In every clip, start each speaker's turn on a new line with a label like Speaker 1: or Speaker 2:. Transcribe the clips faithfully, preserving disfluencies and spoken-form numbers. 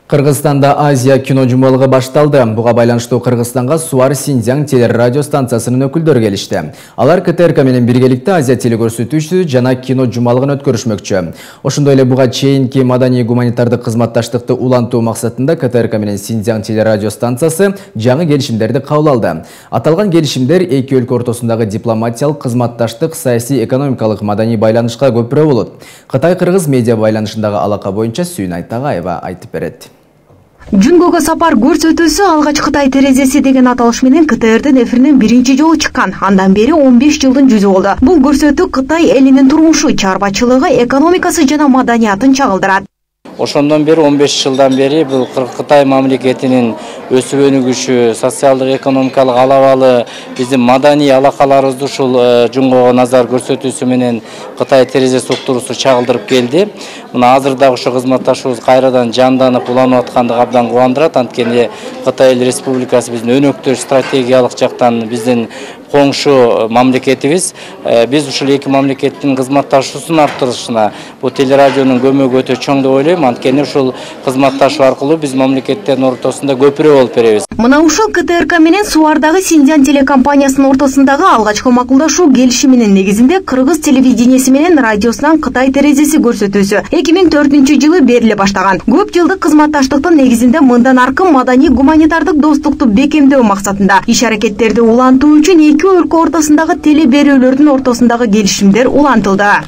Speaker 1: Кыргызстанда Азия кино жумалыгы башталды. Буга байланыштуу Кыргызстанга Суар Синьцзян телерадио станциясынын өкүлдөрү келишти. Алар КТРК менен биргеликте Азия телекөрсөтүүчү жана кино жумалыгын өткөрүшмөкчү. Ошондой эле буга чейинки маданий гуманитардык кызматташтыкты улантуу максатында КТРК менен Синьцзян телерадио станциясы жаңы келишимдерди кабыл алды. Аталган келишимдер эки өлкө ортосундагы дипломатиялык, кызматташтык, саясий, экономикалык, маданий байланышка көпүрө болот. Кытай-Кыргыз медиа байланышындагы алака боюнча Сүйнай Тагаева айтып берет.
Speaker 2: Жүнгөгө сапар көрсөтүүсү алгач Кытай терезеси деген аталыш менен КТРдин эфиринен биринчи жолу чыккан. Андан бери он беш жылдын жүзү болду. Бул көрсөтүү Кытай элинин турмушу, чарбачылыгы, экономикасы жана маданиятын чагылдырат.
Speaker 3: Ошондон бери он беш жылдан бери бул Кытай мамлекетинин өсүп өнүгүшү, социалдык, экономикалык алабалы, биздин маданий алакаларыбызды ушул Жүнгөгө назар көрсөтүүсү менен Кытай терезеси уктуруусу чагылдырып келди. Мына азыр дагы ошо кызматташуубуз кайрадан жанданып, уланып аткандыгы абдан кубандырат. Анткени Кытай Республикасы биздин өнөктөш стратегиялык жактан биздин коңшу мамлекетибиз. Биз ушул эки мамлекеттин кызматташуусун арттырышына бул телерадионун көмөгү өтө чоң деп ойлойм. Анткени ушул кызматташуу аркылуу биз мамлекеттердин ортосунда көпүрө болуп беребиз.
Speaker 2: Мына ушул КТРК менен Суардагы Синьцзян телекомпаниясынын ортосундагы алгачкы макулдашуу келишиминин негизинде кыргыз телевидениеси менен радиосунан Кытай терезеси көрсөтүүсү эки миң төртүнчү жылы бериле баштаган. Көп жылдык кызматташтыктын негизинде мындан аркы маданий гуманитардык достукту бекемдөө максатында иш аракеттерди улантуу үчүн эки өлкө ортосундагы теле берүүлөрдүн ортосундагы келишимдер улантылды.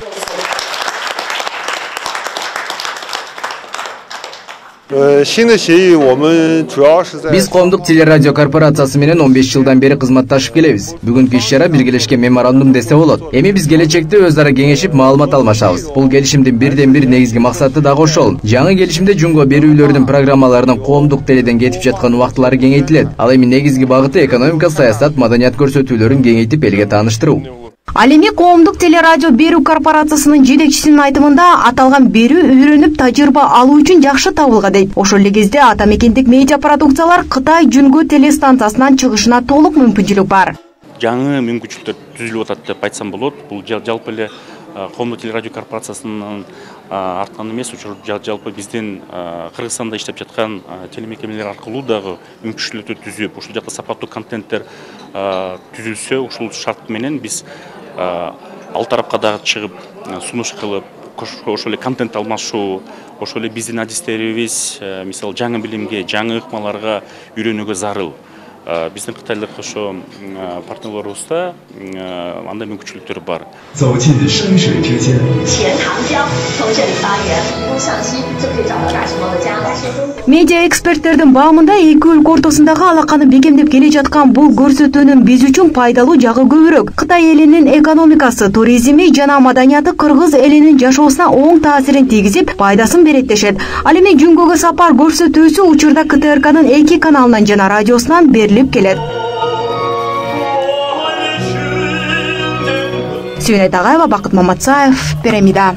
Speaker 1: Биз коомдук телерадио корпорациясы менен он беш жылдан бери кызматташып келебиз. Бүгүнкү иш-чара биргелешкен меморандум десе болот. Эми биз келечекте өз ара кеңешип, маалымат алмашабыз. Бул келишимдин бирден бир негизги максаты дагы ошол. Жаңы келишимде Жүнгө берүүлөрдүн программаларынын коомдук теледен кетип жаткан убактылары кеңейтилет. Ал эми негизги багыты экономика, саясат, маданият көрсөтүүлөрүн кеңейтип элге тааныштыруу.
Speaker 2: Ал эми коомдук телерадио берүү корпорациясынын жетекчисинин айтымында аталган берүү үйрөнүп тажрыйба алуу үчүн жакшы табылган дейт. Ошол эле кезде ата мекендик медиа продукциялар Кытай Жүнгө телестанциясынан чыгышына толук мүмкүнчүлүк бар.
Speaker 4: Жаңы мүмкүнчүлүктөр түзүлүп атат деп айтсам болот. Бул жалпы эле коомдук телерадио корпорациясынын арткан эмес, жалпы биздин Кыргызстанда иштеп жаткан телемекемелер аркылуу дагы мүмкүнчүлүктөр түзүп, ушул жакта сапаттуу контенттер түзүлсө, ушул шарт менен биз ал тарапка дагы чыгып, сунуш кылып, ошол эле контент алмашуу, ошол эле биздин адистерибиз, мисалы жаңы билимге, жаңы ыкмаларга үйрөнүүгө зарыл. Биздин кытайлык ошо партнерлорубузда андай мүмкүнчүлүктөр бар.
Speaker 2: Медиа эксперттердин баамында эки өлкө ортосундагы алаканы бекемдеп келе жаткан бул көрсөтүүнүн биз үчүн пайдалуу жагы көбүрөөк. Кытай элинин экономикасы, туризми жана маданияты кыргыз элинин жашоосуна оң таасирин тийгизип, пайдасын берет дешет. Ал эми Жүнгөгө сапар көрсөтүүсү учурда КТРКнын эки каналынан жана радиосунан берилип келет. Сүйнай Тагаева, Бакыт Маматсаев, Пирамида.